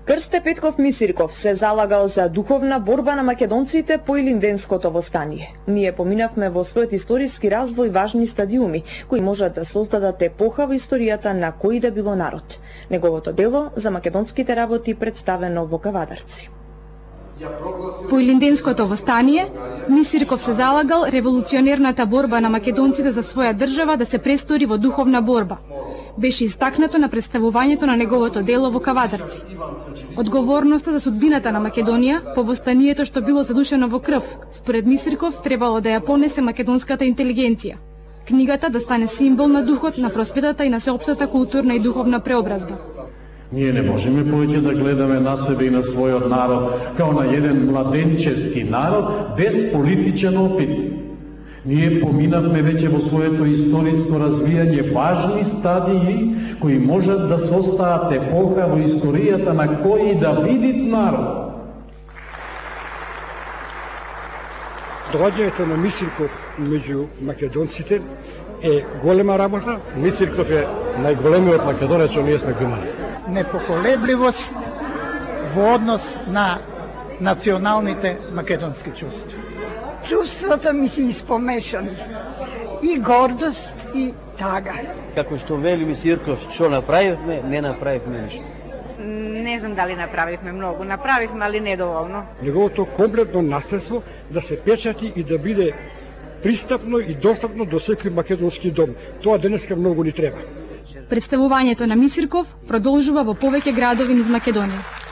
Крсте Петков Мисирков се залагал за духовна борба на македонците по Илинденското востание. Ние поминавме во својот историски развој важни стадиуми, кои можат да создадат епоха во историјата на кој да било народ. Неговото дело за македонските работи представено во Кавадарци. По Илинденското востание, Мисирков се залагал револуционерната борба на македонците за своја држава да се престори во духовна борба. Беше истакнато на представувањето на неговото дело во Кавадарци. Одговорноста за судбината на Македонија по востанието што било задушено во крв, според Мисирков требало да ја понесе македонската интелигенција. Книгата да стане символ на духот, на просветата и на сеопштата културна и духовна преобразба. Ние не можеме повеќе да гледаме на себе и на својот народ као на еден младенчески народ без политичен опит. Ние поминавме веќе во своето историско развијање важни стадии кои можат да состават епоха во историјата на кој да биде народ. Доаѓањето на Мисирков меѓу македонците е голема работа. Мисирков е најголемиот македонец што ние сме го имали. Непоколебливост во однос на националните македонски чувства. Чувствата ми се испомешани. И гордост, и тага. Како што вели Мисирков, што направивме, не направивме ништо. Не знам дали направивме многу, направивме, али недоволно. Неговото комплетно наследство да се печати и да биде пристапно и достапно до секој македонски дом. Тоа денеска многу ни треба. Представувањето на Мисирков продолжува во повеќе градови низ Македонија.